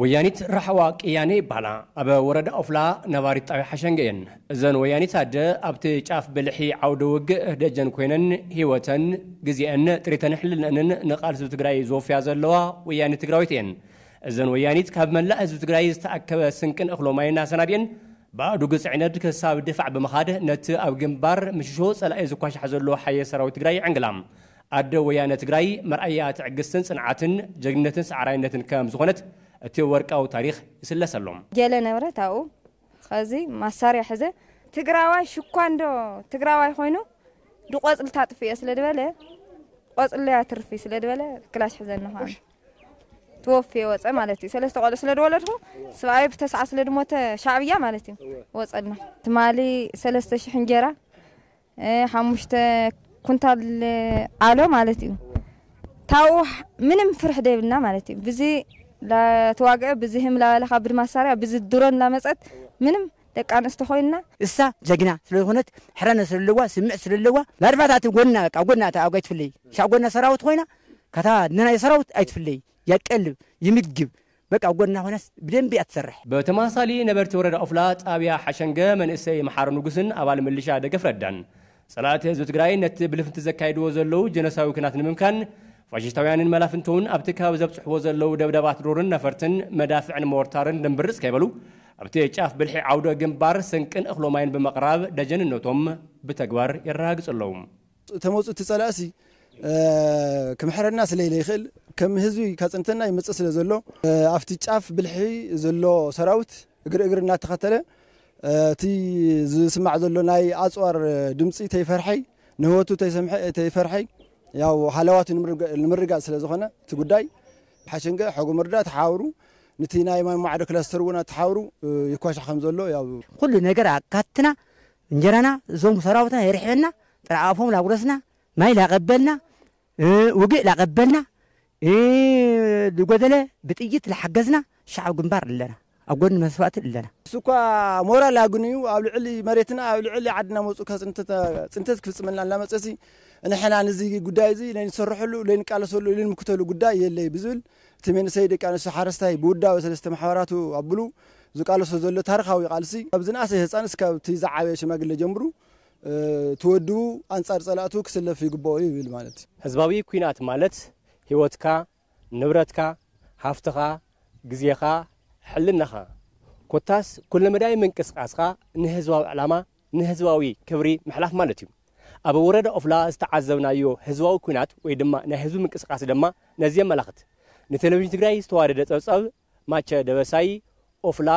ወያኒት ራሕዋ ቅያኔ ይባላ። ኣብ ወረዳ ኦፍላ ነባሪት ጣብያ ሓሸንገ እየን። እዘን ወያኒት ኣደ ኣብቲ ጫፍ ብልሒ ዓውደ ውግእ ደጀን ኮይነን ህይወተን፣ ግዜአን፣ ጥሪተን ሕልነንን ንቃልሲ ህዝቢ ትግራይ ዝወፍያ ዘለዋ ወያኒት ትግራዊት እየን። እዘን ወያኒት ካብ መላእ ህዝቢ ትግራይ ዝተኣከበ ስንቅን እኽሎ ማይን ኣሰናዲአን ብኣእዱግ ፅዕነት ክሳብ ድፋዕ ብምኻድ ነቲ ኣብ ግንባር ምሽሾ ፀላኢ ዝኳሻሕ ዘሎ ሓየ ሰራዊት ትግራይ ይዕንግላ። ኣደ ወያነ ትግራይ መርኣያ ትዕግስትን ፅንዓትን ጀግንነትን ሰዓራይነትን ከም ዝኾነት እቲ ወርቃዊ ታሪኽ ይስለሰሎም። ገለ ንብረት ኣብኡ ኸዚ ማሳርያ ሕዘ ትግራዋይ ሽኳ እንዶ ትግራዋይ ኮይኑ ድቆፅሊ ታጥፍዮ ስለ ዝበለ ቆፅሊ ኣትርፊ ስለ ዝበለ ክላሽ ሕዘኒ ኸዓ ትወፍየ ወፀ ማለት እዩ። ሰለስተ ቆልዑ ስለ ዝወለድኩ ስብኣይ ብተስዓ ስለ ዝሞተ ሻዕብያ ማለት እዩ ወፀልና። ትማሊ ሰለስተ ሽሕ እንጀራ ሓሙሽተ ኩንታል ኣሎ ማለት እዩ። ታው ምንም ፍርሕ ደይብልና ማለት እዩ። ብዚ ላተዋግዐ ብዚ ህም ላበለኻ ብድማሳርያ ብዚ ድሮን ላመፀት ምንም ደቂ ኣንስቶ ኮይንና እሳ ጀግና ስለዝኾነት ሕረነ ስለለዋ ስምዕ ስለለዋ ላድፋታት ጎና በቃ ጎና ተኣጓይ ትፍለይ ሻዕ ጎና ሰራዊት ኮይና ካታ ንናይ ሰራዊት ኣይትፍለይ ያቀልብ ይምግብ በቃ ጎና ኮይናስ ብደንቢ እያ ትሰርሕ። ብተመሳሳሊ ነበርቲ ወረዳ ኦፍላ ጣብያ ሓሸንገ መንእሰይ መሓሪ ንጉስን ኣባል ምልሻ ደገፍ ረዳን ጸላእቲ ህዝቢ ትግራይ ነቲ ብልፍንቲ ዘካይድዎ ዘለዉ ጀኖሳዊ ኩናት ንምምካን ፋሽስታውያንን መላፍንቶውን ኣብቲ ከባቢ ዘብፅሕዎ ዘለዉ ደብዳባት ድሮንን ነፈርትን መዳፍዕን ሞርታርን ድምብርፅ ከይበሉ ኣብቲ ጫፍ ብልሒ ዓውደ ግንባር ስንቅን እኽሎማይን ብምቕራብ ደጀንነቶም ብተግባር የረጋግፁ ኣለዉ። ተመፁ እቲ ፀላእሲ ክምሕረና ስለኢለ ይኽእል ከም ህዝቢ ካፅንተና ይመፅእ ስለ ዘሎ ኣብቲ ጫፍ ብልሒ ዘሎ ሰራዊት እግሪ እግሪ እናተኸተለ እቲ ዝስማዕ ዘሎ ናይ ኣፅዋር ድምፂ ተይፈርሐይ ንህወቱ ተይፈርሐይ ያው ሃለዋቱ ንምርጋፅ ስለ ዝኾነ እቲ ጉዳይ ሓሸንገ ሐጎ መርዳ ተሓባብሩ ንቲ ናይ ማይ ማዕዶ ክላስተር እውን ኣተሓብሩ ይኳሻ ከም ዘሎ ያው ኩሉ ነገር ኣካትና እንጀራና እዞም ሰራዊትና የርሕበና ጥራኣፎም ላጉረስና ማይ ላቀበልና ውግእ ላቀበልና ዝጎደለ ብጥይት ላሓገዝና ሻዕብ ግንባር ኣለና ኣብ ጎኒ መስዋእቲ ኣለና። እሱ እኳ ሞራል ኣግንዩ ኣብ ልዕሊ መሬትና ኣብ ልዕሊ ዓድና መፁ ጽንተት ክፍፅመልና እናመፀሲ ንሕና ንዚ ጉዳይ እዚ ለንሰርሐሉ ለንቃለሰሉ ለንምክተሉ ጉዳይ የለይ ብዝብል እቲ መንእሰይ ደቂ ኣንስትዮ ሓረስታይ ብውዳበ ሰለስተ ማሕበራቱ ኣብሉ ዝቃለሶ ዘሎ ታሪኻዊ ቃልሲ ካብ ዝነኣሰ ህፃን እስካብ እቲ ዝዓበየ ሽማግለ ጀምሩ ትወድቡ ኣንፃር ፀላእቱ ክስለፍ ይግባኦ ይብል ማለት ህዝባዊ ኩናት ማለት ህይወትካ ንብረትካ ሃፍትኻ ግዜኻ ሕልናኻ ኮታስ ኩለመዳይ ምንቅስቃስኻ ንህዝባዊ ዕላማ ንህዝባዊ ክብሪ ምሕላፍ ማለት እዩ። ኣብ ወረዳ ኦፍላ ዝተዓዘብናዮ ህዝባዊ ኩናት ወይ ድማ ናይ ህዝቢ ምንቅስቃስ ድማ ነዚ የመላኽት። ንቴሌቪዥን ትግራይ ዝተዋደደ ፀብፀብ ማቸ ደበሳይ ኦፍላ